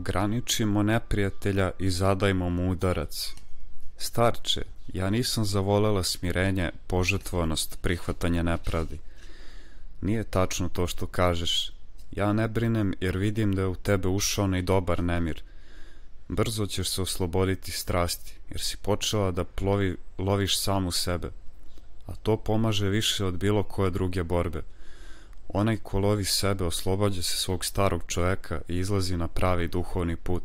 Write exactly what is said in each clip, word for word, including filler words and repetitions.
Ograničimo neprijatelja i zadajmo mu udarac. Starče, ja nisam zavolela smirenje, požrtvovanost, prihvatanje nepravdi. Nije tačno to što kažeš. Ja ne brinem jer vidim da je u tebe ušao onaj dobar nemir. Brzo ćeš se osloboditi strasti, jer si počela da plovi, loviš samu sebe. A to pomaže više od bilo koje druge borbe. Onaj ko lovi sebe oslobađa se svog starog čovjeka i izlazi na pravi duhovni put.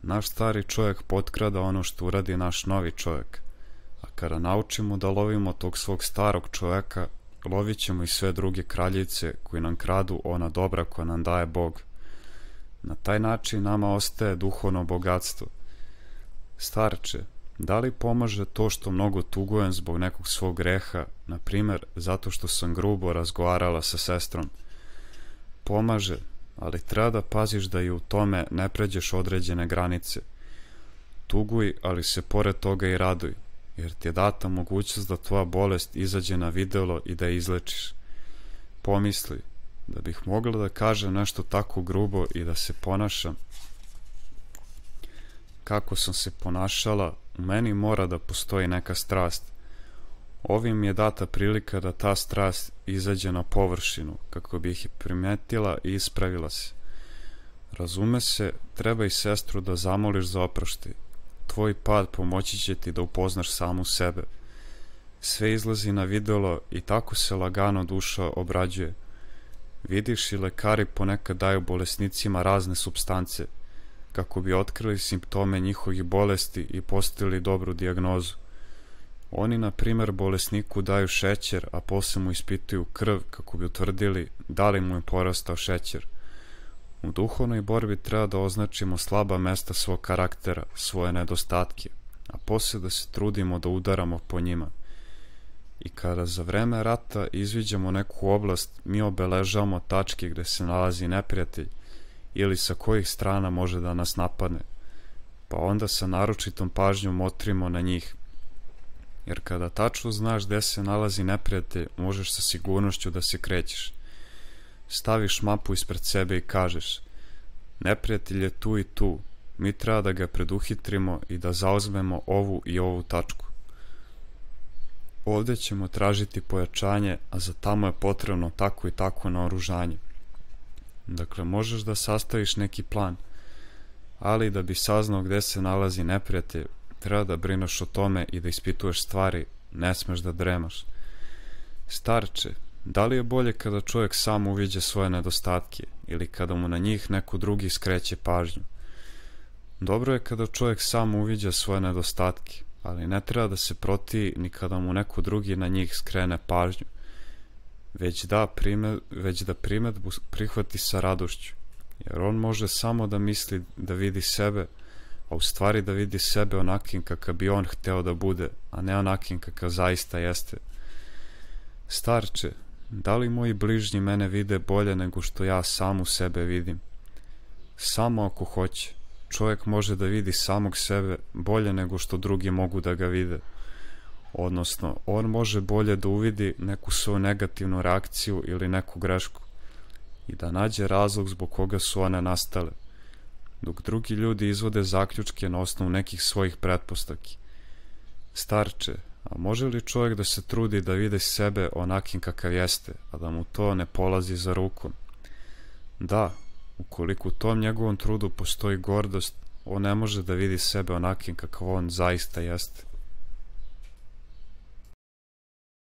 Naš stari čovjek potkrada ono što uradi naš novi čovjek. A kada naučimo da lovimo tog svog starog čovjeka, lovit ćemo i sve druge kraljice koji nam kradu ona dobra koja nam daje Bog. Na taj način nama ostaje duhovno bogatstvo. Starče, da li pomaže to što mnogo tugujem zbog nekog svog greha, na primjer zato što sam grubo razgovarala sa sestrom? Pomaže, ali treba da paziš da i u tome ne pređeš određene granice. Tuguj, ali se pored toga i raduj, jer ti je data mogućnost da tvoja bolest izađe na videlo i da je izlečiš. Pomisli, da bih mogla da kažem nešto tako grubo i da se ponašam kako sam se ponašala, u meni mora da postoji neka strast. Ovim je data prilika da ta strast izađe na površinu, kako bih je primetila i ispravila se. Razume se, treba i sestru da zamoliš za oproštaj. Tvoj pad pomoći će ti da upoznaš samu sebe. Sve izlazi na videlo i tako se lagano duša obrađuje. Vidiš, i lekari ponekad daju bolesnicima razne supstance, kako bi otkrili simptome njihovih bolesti i postavili dobru dijagnozu. Oni, na primjer, bolesniku daju šećer, a posle mu ispituju krv kako bi utvrdili da li mu je porastao šećer. U duhovnoj borbi treba da označimo slaba mesta svog karaktera, svoje nedostatke, a posle da se trudimo da udaramo po njima. I kada za vreme rata izviđamo neku oblast, mi obeležavamo tačke gde se nalazi neprijatelj ili sa kojih strana može da nas napadne, pa onda sa naročitom pažnjom motrimo na njih. Jer kada tačno znaš gde se nalazi neprijatelj, možeš sa sigurnošću da se krećeš. Staviš mapu ispred sebe i kažeš: neprijatelj je tu i tu, mi treba da ga preduhitrimo i da zauzmemo ovu i ovu tačku. Ovdje ćemo tražiti pojačanje, a za tamo je potrebno tako i tako naoružanje. Dakle, možeš da sastaviš neki plan, ali da bi saznao gde se nalazi neprijatelj, treba da brineš o tome i da ispituješ stvari, ne smeš da dremaš. Starče, da li je bolje kada čovjek sam uviđa svoje nedostatke ili kada mu na njih neko drugi skreće pažnju? Dobro je kada čovjek sam uviđa svoje nedostatke, ali ne treba da se protivi ni kada mu neko drugi na njih skrene pažnju, već da, primet, već da primetbu prihvati sa radošću, jer on može samo da misli da vidi sebe, a u stvari da vidi sebe onakim kakav bi on hteo da bude, a ne onakim kakav zaista jeste. Starče, da li moji bližnji mene vide bolje nego što ja samu sebe vidim? Samo ako hoće, čovjek može da vidi samog sebe bolje nego što drugi mogu da ga vide. Odnosno, on može bolje da uvidi neku svoju negativnu reakciju ili neku grešku i da nađe razlog zbog koga su one nastale, dok drugi ljudi izvode zaključke na osnovu nekih svojih pretpostavki. Starče, a može li čovjek da se trudi da vide sebe onakim kakav jeste, a da mu to ne polazi za rukom? Da, ukoliko u tom njegovom trudu postoji gordost, on ne može da vidi sebe onakim kakav on zaista jeste.